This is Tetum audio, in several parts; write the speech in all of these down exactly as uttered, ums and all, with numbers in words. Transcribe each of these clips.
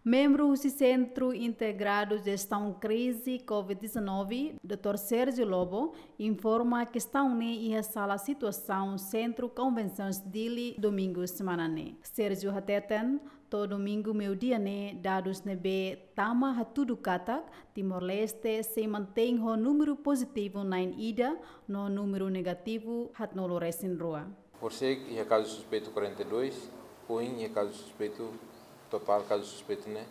Membru husi Sentru Integradu Jestaun Krize covid dezanove, doutór Sérgio Lobo, informa kestaun ne'e iha sala situasaun Sentru Konvensaun Dili, domingu semana ne'e. Sérgio hateten, to'o domingu meiudia ne'e dadus ne'ebé tama hatudu katak Timor-Leste sei mantein ho númeru pozitivu na'in ida no númeru negativu haatnulu resin rua. Horisehik iha kazu suspeitu quarenta e dois, ohin iha kazu suspeitu, totál kazu suspeitu ne'e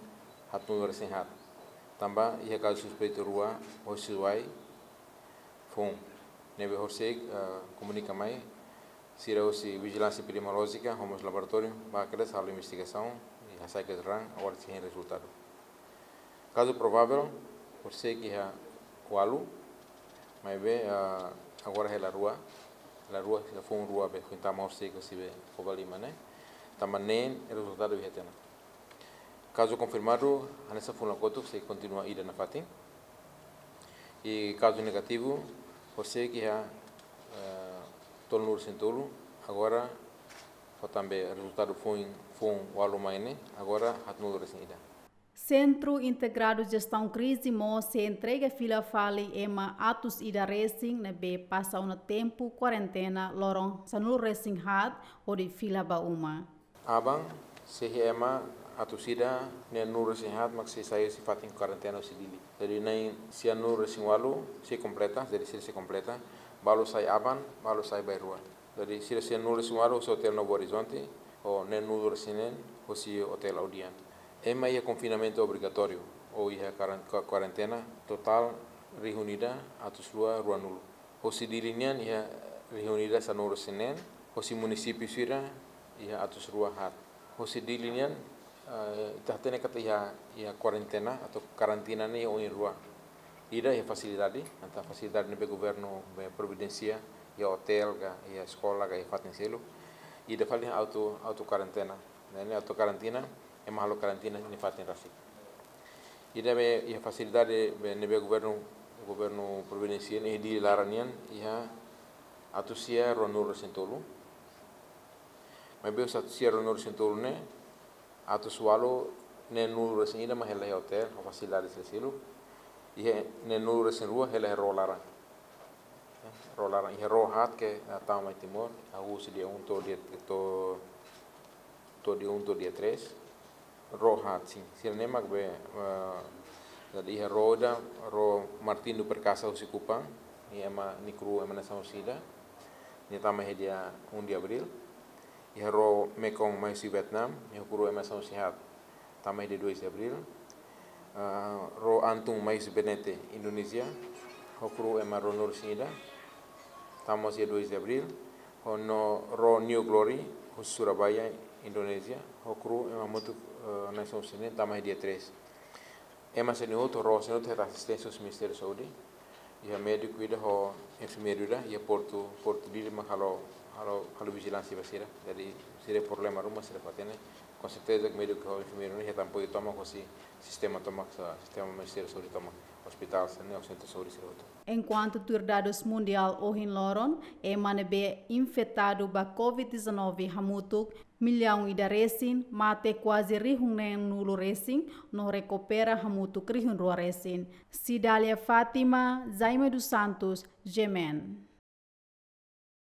haatnulu resin haat. Tanba iha kazu suspeitu rua hosi Suai foun. Ne'ebé horisehik, eh, komunika mai sira husi Vijilánsia Epidemiolójika ho mós laboratóriu ba kedas halo investigasaun i hasai kedas raan, agora sei hein rezultadu. Kazu provável horisehik iha ualu, maibé, ah, agora hela rua, hela rua, hela foun rua be foin tama horisehik husi be Covalima ne'e. Tanba neen rezultadu iha tiha ona. Kazu konfirmadu hanesan foun la kotuk sei kontinua ida nafatin. I kazu negativu horisehik iha, eh, tolunulu resin tolu, agora fó tan be rezultadu foun, foun ualu mai ne'e, agora haatnulu resin ida. Sentru Integradu Jestaun Krize mós sei entrega fila fali ema atus ida resin ne'ebé pasa ona tempu kuarentena loron sanulu resin haat hodi fila ba uma. Aban, sei iha ema atus ida neenulu resin haat mak sei sai husi fatin kuarentena husi Dili. Jadi na'in sianulu resin ualu sei kompleta, jadi sira sei kompleta. Balu sai aban, balu sai bainrua. Jadi sira sianulu resin ualu husi Hotel Novo Horizonte, ho neenulu resin neen husi Hotel Audian. Ema iha konfinamentu obrigatóriu ou iha karan-, kua-, kuarentena totál rihun ida atus rua ruanulu. Hosi Dili nian iha rihun ida sanulu resin neen, hosi munisípiu sira iha atus rua haat. Hosi Dili nian, eh, ita hatene katak iha, iha kuarentena atau karantina ne'e iha oin rua. Ida iha fasilidade, entaun fasilidade ne'ebé governu be providensia, iha otél ka, iha eskola ka, iha fatin seluk. Ida fali iha auto, auto kuarentena. Ne'e, ne'e auto kuarentena, ema halo kuarentena iha nia fatin rasik. Ida be iha fasilidade be ne'ebé governu, governu providensia ne'e iha Dili laran nian iha atus sia ruanulu resin tolu. Maibé husi atus sia ruanulu resin tolu ne'e, atus ualu neenulu resin ida mak hela iha otél, ho fasilidade sira seluk. Iha neenulu resin rua hela iha ró laran. Ró laran, iha ró haat ke, eh, tama mai Timor, hahú husi dia um to'o dia, to'o, to'o dia um to'o dia três. Ró haat, sin. Sira-ne'e mak be, eh, jadi iha ró ida, ró Martinho Perkasa husi Kupang, nia ema nia kuru ema nasaun sira-ne'e. Nia tama iha dia um de abril. Iha ró Mekong mai husi Vietnam, nia kuru ema nasaun sira-ne'e. Tama iha dia dois de abril. Ah, ró Antung mai husi Benete, Indonézia, ho kuru ema ruanulu resin ida. Tama iha dia dois de abril. Ho no ró New Glory, husi Surabaya, Indonézia, ho kuru ema hamutuk, eh, nasaun sira-ne'e, tama iha dia três. Ema sira-ne'e hotu, ró sira-ne'e hotu hetan asisténsia husi Ministériu Saúde. Iha médiku ida ho enfermeiru ida, iha portu, portu Dili mak halo, halo, halo vijilánsia ba sira. Jadi, sira problema ruma sira fó hatene. Com certeza que médiku ho enfermeiru ne'e hetan apoiu tomak husi sistema tomak, sa-, sistema Ministériu Saúde tomak, ospitál sira-ne'e, sentru saúde sira hotu. Enkuantu tuir dadus mundiál ohin loron, ema ne'ebé infetadu ba covid dezanove hamutuk millaun ida resin, mate kuaze rihun neenulu resin, no rekupera hamutuk rihun rua resin. Cidália Fátima, Jaime dos Santos, G M N.